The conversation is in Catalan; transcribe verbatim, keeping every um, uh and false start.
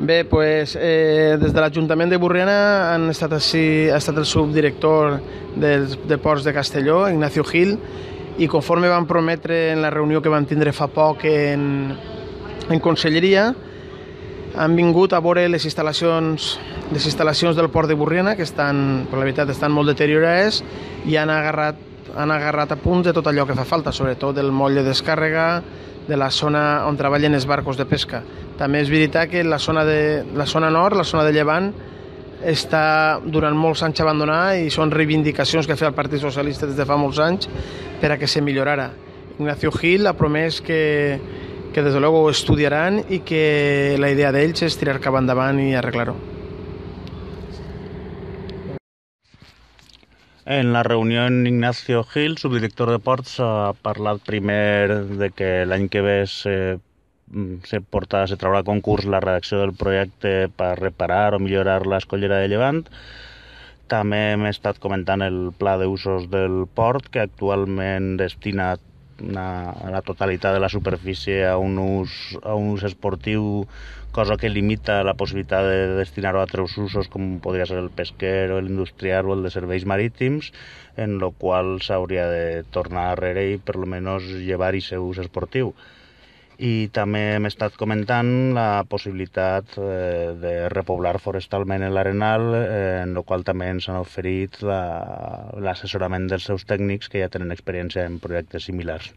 Bé, pues, eh, des de l'Ajuntament de Borriana han estat així, ha estat el subdirector dels de Ports de Castelló, Ignacio Gil, i conforme van prometre en la reunió que van tindre fa poc en, en Conselleria, han vingut a veure les instal·lacions, les instal·lacions del Port de Borriana, que estan, per la veritat, estan molt deteriorades, i han agarrat, han agarrat a punts de tot allò que fa falta, sobretot del moll de descàrrega, de la zona on treballen els barcos de pesca. També és veritat que la zona, de, la zona nord, la zona de Llevant, està durant molts anys abandonada i són reivindicacions que ha fet el Partit Socialista des de fa molts anys per a que se millorara. Ignacio Gil ha promès que, que des de luego ho estudiaran i que la idea d'ells és tirar cap endavant i arreglar-ho. En la reunió, Ignacio Gil, subdirector de Ports, ha parlat primer de que l'any que ve se, se, porta, se traurà a concurs la redacció del projecte per reparar o millorar l'escollera de Llevant. També hem estat comentant el pla d'usos del port, que actualment destina una, la totalitat de la superfície a un ús, a un ús esportiu, cosa que limita la possibilitat de destinar-ho a altres usos com podria ser el pesquer o l'industrial o el de serveis marítims, en el qual s'hauria de tornar darrere i per almenys llevar-hi seu ús esportiu. I també hem estat comentant la possibilitat eh, de repoblar forestalment l'Arenal, eh, en el qual també ens han oferit l'assessorament la, dels seus tècnics que ja tenen experiència en projectes similars.